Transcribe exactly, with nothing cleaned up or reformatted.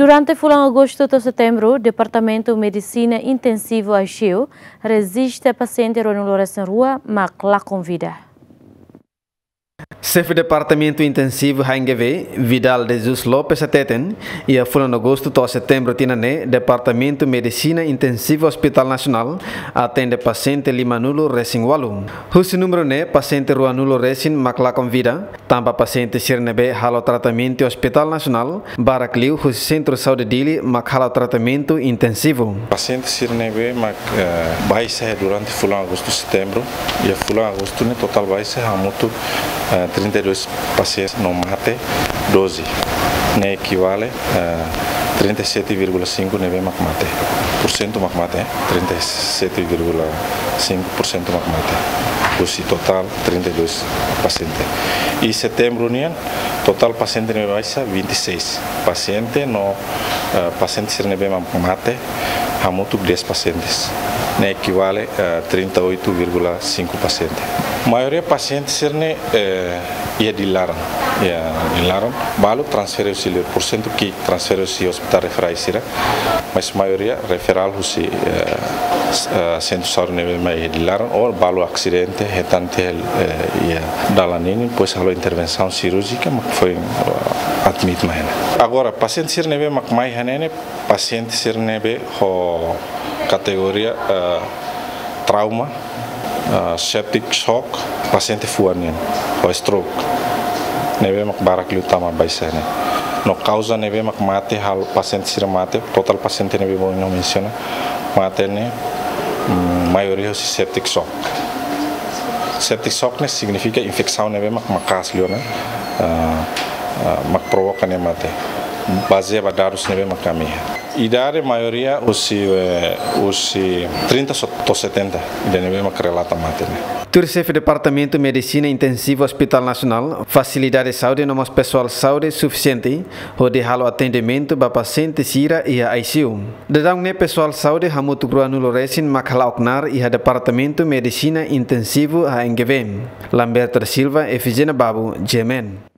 Durante fulan Agostu to'o Setembru, Departamentu Medisina Intensivu I C U rejista pasiente ruanulu resin rua mak lakon vida. Xefe Departamentu Intensivu H N G V, Vidal de Jesus Lopes hateten, iha fulan Agostu to'o Setembru tinan ne'e, Departamentu Medisina Intensivu Hospital Nasionál atende pasiente limanulu resin ualu. Husi númeru ne'e, pasiente ruanulu resin mak lakon vida, tanba pasiente sira ne'ebé halo tratamentu iha Hospital Nasionál, barak liu husi Sentru Saúde Dili mak halo tratamentu intensivu. Pasiente sira ne'ebé mak, eh, baixa durante fulan Agostu, Setembru, iha fulan Agostu ne'e totál baixa hamutuk, eh, trinta e dois pasiente no mate doze. Ne'e ekivale, eh, trinta e sete vírgula cinco ne'ebé mak mate. Porsentu mak mate, eh, trinta e sete vírgula cinco porsentu mak mate. Husi totál trinta e dois pasiente. Iha Setembru nian, totál pasiente ne'ebé baixa vinte e seis pasiente no, eh, pasiente sira ne'ebé mak mate hamutuk dez pasientes. Ne'e ekivale, eh, trinta e oito vírgula cinco pasiente. Maioria pasiente sira ne'e, eh, iha Dili laran, iha Dili laran, balu transfere husi liur, porsentu ki'ik transfere husi hospital referál sira, mas maioria referál husi, eh, s-, eh, Sentru Saúde ne'ebé mak iha Dili laran, ou balu asidente, hetan tiha, eh, iha dalan ninin, depois halo intervensaun sirúrjika, mak foin, eh, admite mai iha ne'e. Agora, pasiente sira ne'ebé mak mai iha ne'e, pasiente sira ne'ebé ho kategoria, eh, trauma, eh, septic shock, pasiente fuan nian, ho stroke. Ne'ebé mak barak liu tama baixa ne'e. No kauza ne'ebé mak mate, halo pasiente sira mate, totál pasiente ne'ebé mak ha'u mensiona mate ne'e, mm, maioria husi septic shock. Septic shock ne'e signifika infesaun ne'ebé mak maka'as liu ona, eh, eh, mak provoka nia mate. Bazeia ba dadus ne'ebé mak ami iha. Idade maioria husi, eh, husi trinta so-, to'o setenta, ida ne'ebé mak relata mate ne'e. Tuir Xefe Departamentu Medisina Intensivu Hospital Nasionál, fasilidade saúde no mós pesoál saúde sufisiente hodi halo atendimentu ba pasiente sira iha I C U. Daudaun ne'e pesoál saúde hamutuk ruanulu resin mak hala'o knaar iha Departamentu Medisina Intensivu H N G V. Lamberto da Silva, Efigénia Babu, G M N.